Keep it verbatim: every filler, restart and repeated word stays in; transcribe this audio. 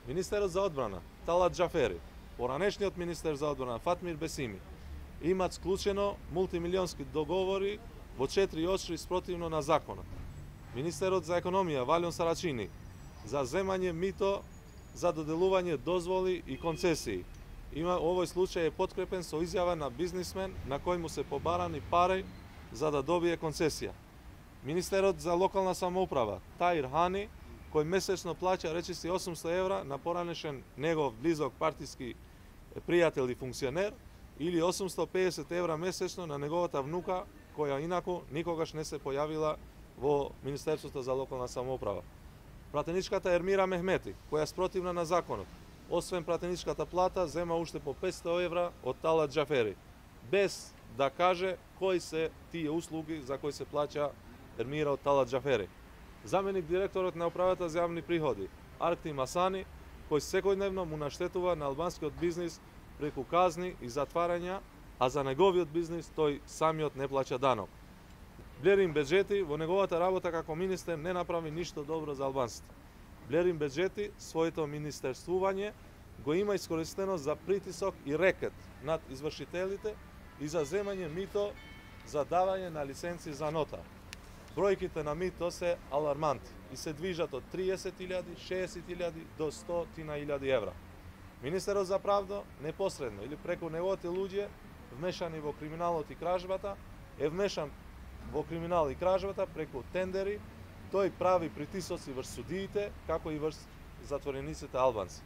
Министерот за одбрана Талат Џафери, поранешниот министер за одбрана Фатмир Бесими имаат склучено мултимилионски договори во четири очри спротивно на законот. Министерот за економија Валион Сарачини за земање мито за доделување дозволи и концесии. Има овој случај е подкрепен со изјава на бизнисмен на кој му се побарани пари за да добие концесија. Министерот за локална самоуправа Таир Хани, кој месечно плаќа речиси осумсто евра на поранешен негов близок партиски пријател и функционер, или осумсто педесет евра месечно на неговата внука, која инаку никогаш не се појавила во Министерството за локална самоуправа. Пратеничката Ермира Мехмети, која спротивна на законот, освен пратеничката плата, зема уште по петсто евра од Талат Џафери, без да каже кои се тие услуги за кои се плаќа Ермира од Талат Џафери. Заменик директорот на управата за јавни приходи Аркти Масани, кој секојдневно му наштетува на албанскиот бизнис преку казни и затварања, а за неговиот бизнис тој самиот не плаќа данок. Блерин Беџети во неговата работа како министер не направи ништо добро за албанците. Блерин Беџети своето министерствување го има искористено за притисок и рекет над извршителите и за земање мито за давање на лиценци за нота. Бројките на мито се аларманти и се движат од триесет илјади, шеесет илјади до сто илјади евра. Министерот за правда непосредно или преку неговите луѓе вмешани во криминалот и кражбата е вмешан во криминал и кражбата преку тендери, тој прави притисоци врз судиите, како и врз затворениците албанци.